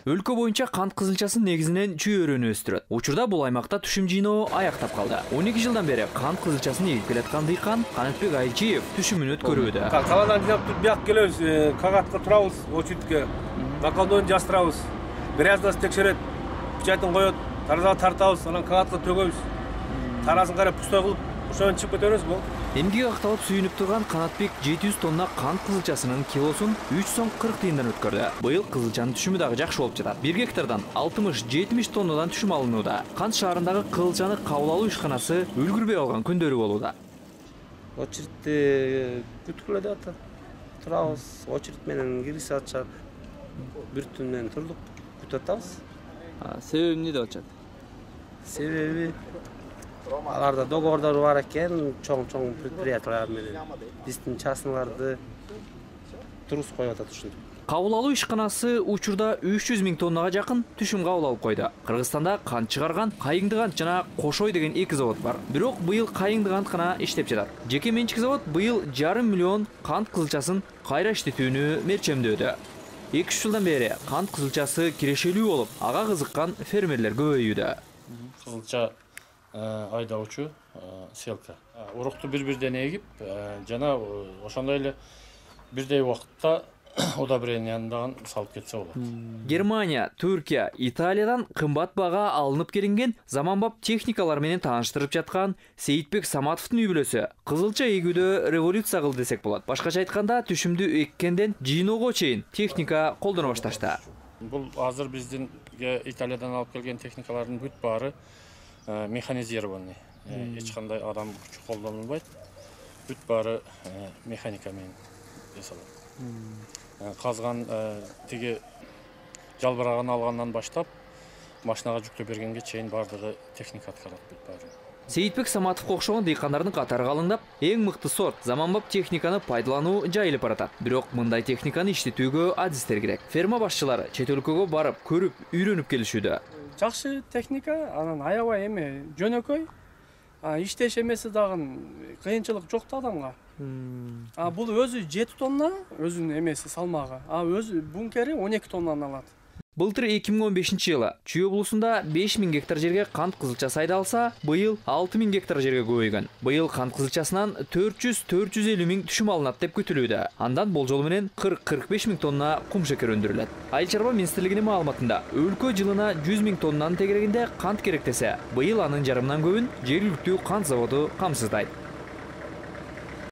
Өлкө боюнча кант кызылчасын негизинен чүйөрөнү өстүрөт. Учурда бул аймакта түшүм жыйноо аяктап калды. 12 жылдан бери кант кызылчасын эгип келаткан дыйкан Канатбек Айчиев түшүмүн өткөрүүдө. Каладан жинап бияк келебиз, кагатка турабыз, очередке. Накалдоон жастырабыз. Гряздасын текшерет, печатын коет, таразага тартабыз, анан кагатка төгөбүз. Тарасын карап пустой кылып, ошондон чыгып кетебиз бул. Эмгек акталып сүйүнүп турган Канатбек 700 тонна кант кызылчасынын килосун 3 сом 40 тыйындан өткөрдү. Быйыл кызылчанын түшүмү дагы жакшы болуп жатат. 1 гектардан 60-70 тоннадан түшүм алынууда. Кант шаарындагы кызылчаны кабыл алуу ишканасы үлгүрбөй калган күндөрү болууда. Очередти күткүлө деп атат. Турабыз, очеред менен киргизе атышат. Бир түн менен турдук, күтүп атабыз. Себеби эмне деп атышат? Себеби аларда договордор бар экен, чоң предприятиялар менен. Биздин частныйларды турус коюп атат ушинтип. Кабыл алуу ишканасы учурда 300 000 тоннага жакын түшүм кабыл алып койду. Кыргызстанда кант чыгарган Кайыңды кант жана Кошой деген 2 завод бар. Бирок быйыл Кайыңды кант гана иштеп жатат. Жеке менчик завод быйыл 5,5 миллион кант кызылчасын кайра иштетүүнү мерчемдөөдө. 2 жылдан бери кант кызылчасы кирешелүү болуп, ага кызыккан фермерлер көбөйүүдө. Кызылча айдоочу селка. Урукту бир-бирден эгип, жана ошондой эле бирдей убакытта удобренияндан салып кетсе болот. Германия, Түркия, Италиядан кымбат бага алынып келинген заманбап техникалар менен тааныштырып жаткан Сейитбек Саматовдун үй бүлөсү кызылча эгүүдө революция кылды десек болот. Башкача айтканда, түшүмдү эккенден жыйноого чейин техника колдоно башташты. Бул азыр биздин Италиядан алып келген техникалардын бүт баары механизированный. Эч кандай адам күчү колдонулбайт. Бүт баары механика менен жасалат. Казган тиги жалбырагын алгандан баштап машинага жүктөп бергенге чейин бардыгы техника аткарат бүт баары. Сейитбек Саматовго окшогон дыйкандардын катары калыңдап, эң мыкты сорт заманбап техниканы пайдалануу жайылып баратат. Бирок мындай техниканы иштетүүгө адистер керек. Ферма башчылары чет өлкөгө барып, көрүп, үйрөнүп келишүүдө. Жакшы техника, анан аябай эме жөнөкөй. Иштеш эмеси дагы кыйынчылык жок да адамга. Бул өзү 7 тонна, өзүнүн эмеси салмагы. Өзү бункери 12 тоннаны алат. Былтыр 2015-жылы Чүй облусунда 5000 гектар жерге кант кызылчасы айдалса, быйыл 6000 гектар жерге көбөйгөн. Быйыл кант кызылчасынан 400-450 000 түшүм алынат деп күтүлүүдө. Андан болжол менен 40-45 000 тонна кум шекер өндүрүлөт. Айыл чарба министрлигинин маалыматында өлкө жылына 100 000 тоннанын тегерегинде кант керек десе, быйыл анын жарымынан көбүн жергиликтүү кант заводу камсыздайт.